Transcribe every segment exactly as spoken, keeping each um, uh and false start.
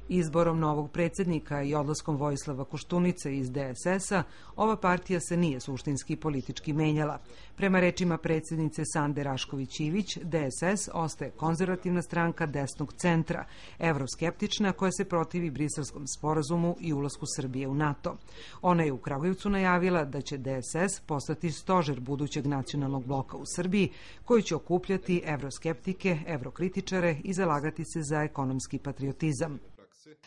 Izborom novog predsjednika i odlaskom Vojislava Koštunice iz D S S-a, ova partija se nije suštinski politički menjala. Prema rečima predsjednice Sande Rašković-Ivić, D S S ostaje konzervativna stranka desnog centra, evroskeptična koja se protivi Briselskom sporazumu i ulasku Srbije u NATO. Ona je u Kragujevcu najavila da će D S S postati stožer budućeg nacionalnog bloka u Srbiji, koji će okupljati evroskeptike, evrokritičare i zalagati se za ekonomski patriotizam.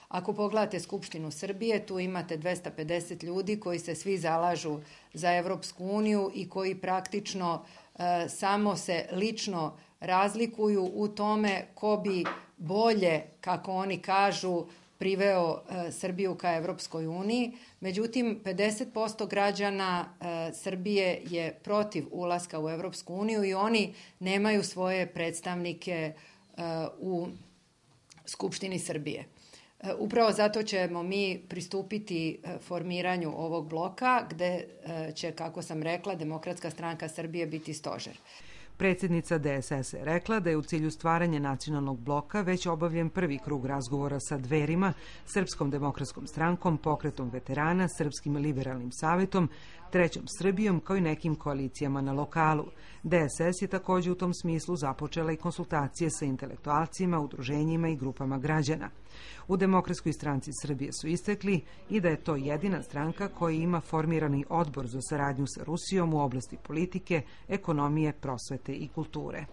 Ako pogledate Skupštinu Srbije, tu imate dvesta pedeset ljudi koji se svi zalažu za Evropsku uniju i koji praktično e, samo se lično razlikuju u tome ko bi bolje, kako oni kažu, priveo e, Srbiju ka Evropskoj uniji. Međutim, pedeset posto građana e, Srbije je protiv ulaska u Evropsku uniju i oni nemaju svoje predstavnike e, u Skupštini Srbije. Upravo zato ćemo mi pristupiti formiranju ovog bloka gde će, kako sam rekla, Demokratska stranka Srbije biti stožer. Predsjednica D S S je rekla da je u cilju stvaranja nacionalnog bloka već obavljen prvi krug razgovora sa Dverima, Srpskom demokratskom strankom, Pokretom veterana, Srpskim liberalnim savetom, Trećom Srbijom, kao i nekim koalicijama na lokalu. D S S je također u tom smislu započela i konsultacije sa intelektualcima, udruženjima i grupama građana. U Demokratskoj stranci Srbije su istakli i da je to jedina stranka koja ima formirani odbor za saradnju sa Rusijom u oblasti politike, ekonomije, prosvete i kulture.